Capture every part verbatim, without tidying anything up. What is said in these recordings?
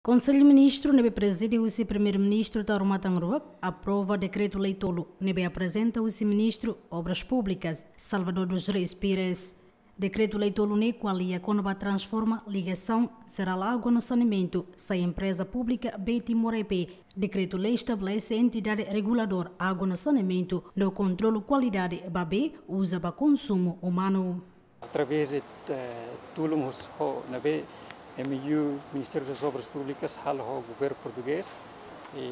Konsellu Ministru ne'ebé prezide husi Primeiru-Ministru Taur Matan Ruak aprova dekretu-lei tolu ne'ebé aprezenta husi Ministru Obras Públikas, Salvador dos Reis Pires. Dekretu-lei tolu ne'e ko'alia kona-ba transforma ligasaun jerál água no saneamentu sai empreza públika B Timor E P. Dekretu-lei estabelese entidade reguladór água no saneamentu no kontrolu kualidade ba bee uza ba konsumu umanu. Através de, eh, tulun husi ho ne'ebé M O U Ministério das Obras Públicas halo ho governu portugés, i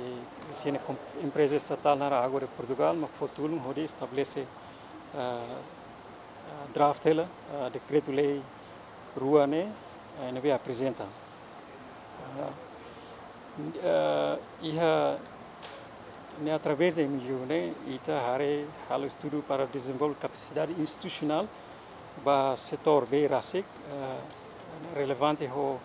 sira-ne'e kom-, empreza estatál naran Água de Portugal, mak fó tulun hodi estabelese, eh, eh, draft hela, eh, dekretu-lei rua ne'e, eh, ne'ebé aprezenta. Ah, ah, iha ne'e através de M O U ne'e, ita haree halo estudu para dezenvolve kapasidade institusionál ba setór bee rasik, ah, relevante ho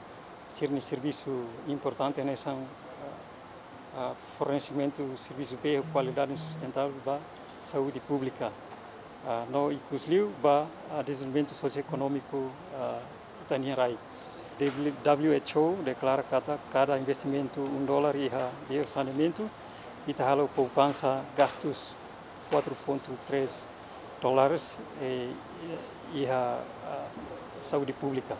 sira-nia servisu importante hanesan, ah, ah, fornesimentu servisu bee ho kualidade sustentável ba saúde públika. Ah, no ikusliu ba, ah, dezenvolvimentu sosioekonómiku, ah, ita-nia rai. W H O deklara katak kada investimentu um dólar iha bee saneamentu, ita halo poupansa gastus quatro ponto três dólares, eh, iha, ah, saúde públika.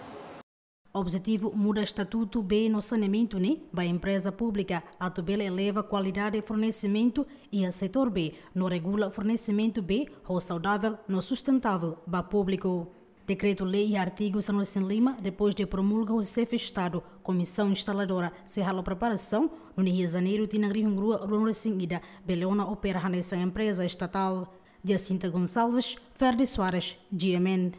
Objetivu muda estatutu bee no saneamentu ne'e ba empreza públika atu bele eleva kualidade fornesimentu iha setór bee no regula fornesimentu bee ho saudavel no sustentável ba públiku. Dekretu-lei iha artigu sanulu-resin-lima, depois de promulga husi Xefe Estadu, Komisaun Instaladora sei halo preparasaun, nune'e iha Janeiru tinan rihun rua ruanulu-resin-ida bele ona opera hanesan empreza estatál. Jacinta Gonçalves, Ferdi Soares, G M N.